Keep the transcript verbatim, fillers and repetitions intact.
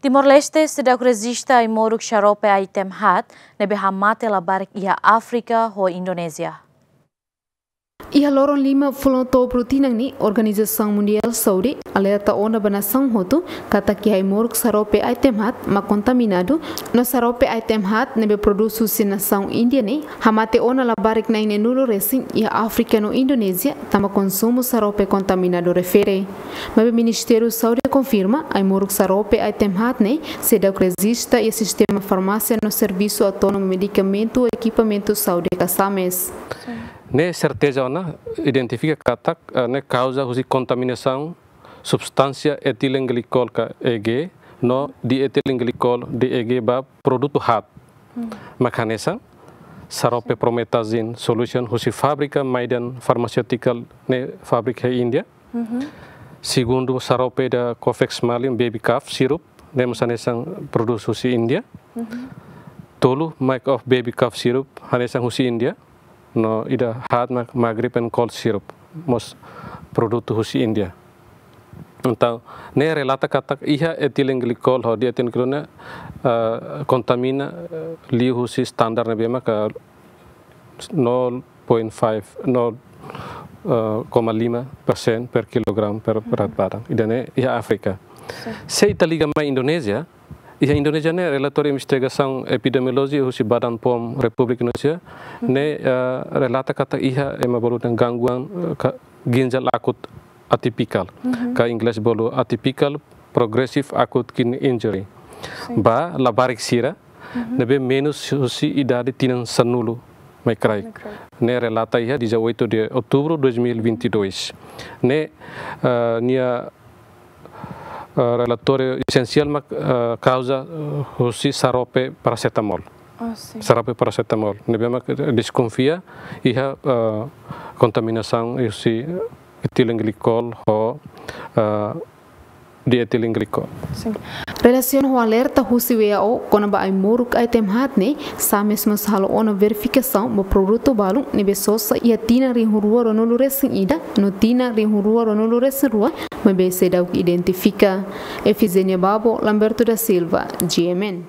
Timor-Leste seidauk rejista ai-moruk xarope item haat ne'ebé hamate labarik iha Áfrika ho Indonézia. Iha loron lima fulan Outubru tinan ne'e, Organizasaun Mundiál Saúde alerta ona ba nasaun hotu katak iha ai-moruk xarope item haat mak kontaminadu, no xarope item haat ne'ebé prodús husi nasaun Índia ne'e hamate ona labarik na'in-neenulu resin iha Áfrika no Indonézia, tanba konsumu xarope kontaminadu refere. Maibé Ministériu Saúde konfirma, ai-moruk xarope item haat ne'e seidauk rejista iha sistema farmásia no Servisu Autónomu Medikamentu no Ekipamentu Saúde ka SAMES. Ne'e serteza ona identifika katak, eh, ne'e kauza husi kontaminasaun substánsia etilenglikol ka E G, no dietilenglisikol, D E G, ba produtu haat. Mak hanesan xarope promethazine solution husi fábrika Maiden Pharmaceutical, ne'e fábrika iha Índia. Segundu, xarope ida Cofex Malium baby calf syrup, ne'e mós hanesan prodús husi Índia. Tolu, Make Off baby calf syrup, hanesan husi Índia. No ida haat mak Magrip and Cold syrup, mós produtu husi Índia. Entaun, ne'e relata katak iha etilenglikol ho dietilenglisikol ne'e, eh, kontamina, eh, liu husi standar ne'ebé maka nol point five, nol, eh, koma lima persen per kilogram per berat badan. Ida-ne'e iha Áfrika. Se ita liga mai Indonézia, iha Indonézia ne'e relatóriu investigasaun epidemiolojia husi Badan POM Repúblika Indonézia ne'e, eh, relata katak iha ema bolu dehan gangguan, eh, ka-, ginjal akut atipikál, ka inglés bolu atypical progressive acute kidney injury. Ba labarik sira ne'ebé menus husi idade tinan sanulu mai kraik. Ne'e relata iha dezoito de outubro de dois mil e vinte e dois. Ne'e, eh, nia, eh, relatóriu esensiál mak, eh, kauza, eh, husi xarope parasetamol. Xarope parasetamol. Ne'ebé mak deskonfia iha, eh, kontaminasaun husi etilenglikol ho, eh, dietilenglisikol. Relasiona ho alerta husi W A O kona-ba ai-moruk item haat ne'e, SAMES mós halo ona verifikasaun ba produtu balun ne'ebé sosa iha tinan rihun rua ruanulu resin ida no tinan rihun rua ruanulu resin rua, maibé seidauk identifika. Efigénia Babo, Lamberto da Silva, G M N.